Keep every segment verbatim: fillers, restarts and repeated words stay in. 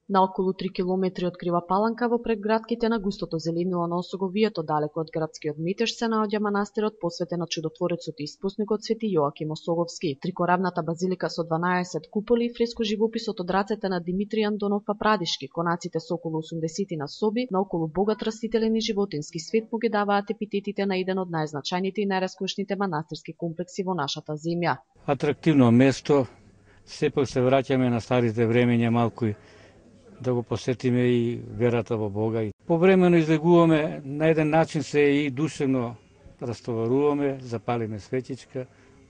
На околу три километри од Крива Паланка во предградките на густото зеленило на Осоговието, далеко од градскиот метеж, се наоѓа манастирот посветен на чудотворецот и испосникот Свети Јоаким Осоговски. Трикоравната базилика со дванаесет куполи и фреско живописот од рацете на Димитрий Андонов Папрадишки, конаците со околу осумдесет на соби, на околу богат растителен и животински свет му ги даваат епитетите на еден од најзначајните и најраскошните манастирски комплекси во нашата земја. Атрактивно место, сепак се враќаме на старите времења малку да го посетиме и верата во Бога. Повремено излегуваме, на еден начин се и душевно растоваруваме, запалиме светичка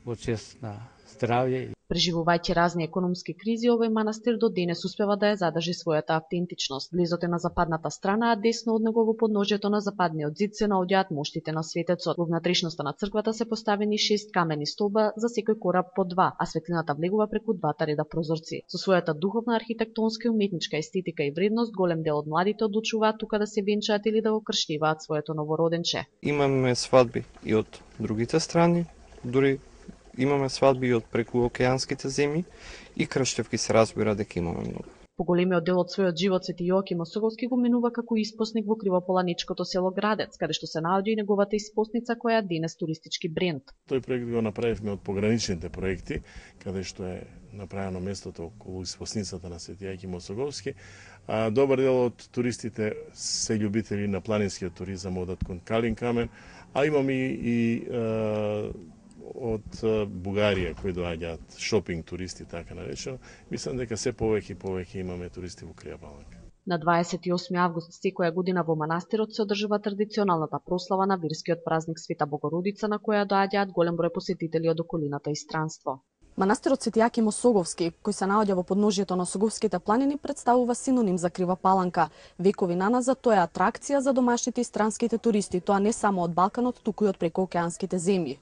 во чест на здравје. Преживувајќи разни економски кризи, овој манастир до денес успева да ја задржи својата автентичност. Близот е на западната страна, а десно од него во подножјето на западниот зид се наоѓаат моштите на светецот. Во внатрешноста на црквата се поставени шест камени столба, за секој кораб по два, а светлината влегува преку двата реда прозорци. Со својата духовна, архитектонска и уметничка естетика и вредност, голем дел од младите одлучуваат тука да се венчаат или да го крштиваат своето новороденче. Имаме свадби и од другите страни, дури имаме свадби и од преку океанските земји и крштевки се разбира дека имаме многу. Поголемиот дел од својот живот Свети Јоаким Осоговски го минува како испосник во кривополаничкото село Градец, каде што се наоѓа и неговата испосница која е денес туристички бренд. Тој проект го направивме од пограничните проекти, каде што е направено местото околу испосницата на Свети Јоаким Осоговски. А добар дел од туристите се љубители на планинскиот туризам, одат кон Калин камен, а имаме и, и од Бугарија кои доаѓаат шопинг туристи, така наречено. Мислам дека се повеќе и повеќе имаме туристи во Крива Паланка. На дваесет и осми август секоја година во манастирот се одржува традиционалната прослава на верскиот празник Света Богородица, на која доаѓаат голем број посетители од околината и странство. Манастирот Свети Јоаким Осоговски, кој се наоѓа во подножјето на Осоговските планини, представува синоним за Крива Паланка. Векови наназад тој е атракција за домашните и странските туристи, тоа не само од Балканот, туку и од прекоокеанските земји.